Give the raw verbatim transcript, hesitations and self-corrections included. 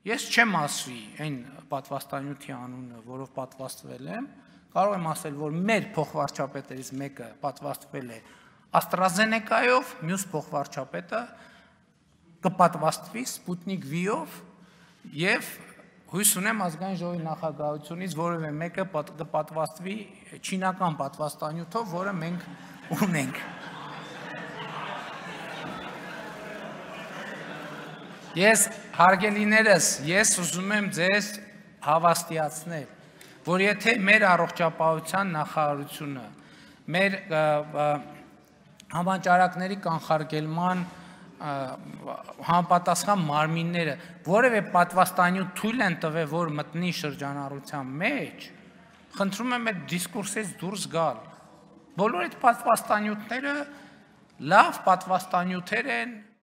Ես չեմ ասվի այն պատվաստանյութի անունը, որով պատվաստվել եմ, կարող եմ ասել, որ մեր փոխվարչապետերից մեկը պատվաստվել է AstraZeneca-ով, մյուս փոխվարչապետը կպատվաստվի Sputnik V-ով եւ հույս ունեմ ազգային ժողովի նախագահությունից որևէ մեկը կպատվաստվի չինական պատվաստանյութով, որը մենք ունենք։ Ես հարգելիներս, ես ուզում եմ ձեզ հավաստիացնել, որ եթե մեր առողջապահության նախարարությունը, մեր համաճարակների կանխարգելման համապատասխան մարմինները որևէ պատվաստանյութ թույլ են տվել, որ մտնի շրջանառության մեջ, խնդրում եմ այդ դիսկուրսից դուրս գալ։ Բոլոր այդ պատվաստանյութները լավ պատվաստանյութեր են,